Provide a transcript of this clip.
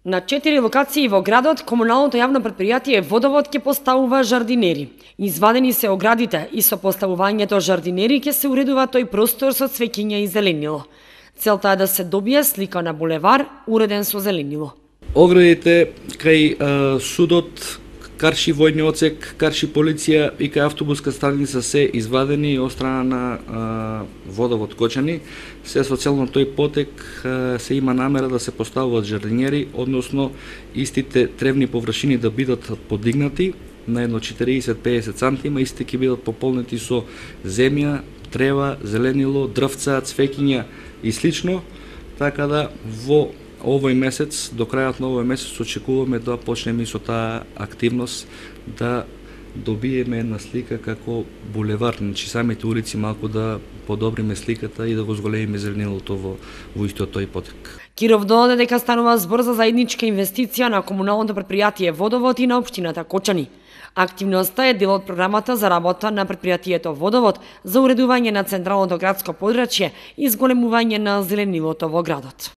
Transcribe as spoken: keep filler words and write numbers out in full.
На четири локации во градот, комуналното јавно претпријатие Водовод ќе поставува жардинери. Извадени се оградите и со поставувањето жардинери ќе се уредува тој простор со цвеќиња и зеленило. Целта е да се добие слика на булевар уреден со зеленило. Оградите кај е, судот, Карши војни оцек, Карши полиција и кај автобуска станица се извадени од страна на е, Водовод Кочани. Се со цел на тој потек е, се има намера да се поставуваат жардинери, односно истите тревни површини да бидат подигнати на едно четириесет до педесет сантима, истите ќе бидат пополнети со земја, трева, зеленило, дрвца, цвеќиња и слично, така да во овој месец, до крајот на овој месец, очекуваме да почнеме со таа активност, да добиеме една слика како булевар, значи самите улици малку да подобриме сликата и да го зголемиме зеленилото во, во истиот тој потек. Киров додаде дека станува збор за заедничка инвестиција на комуналното претпријатие Водовод и на општината Кочани. Активноста е дел од програмата за работа на претпријатието Водовод за уредување на централното градско подрачје и зголемување на зеленилото во градот.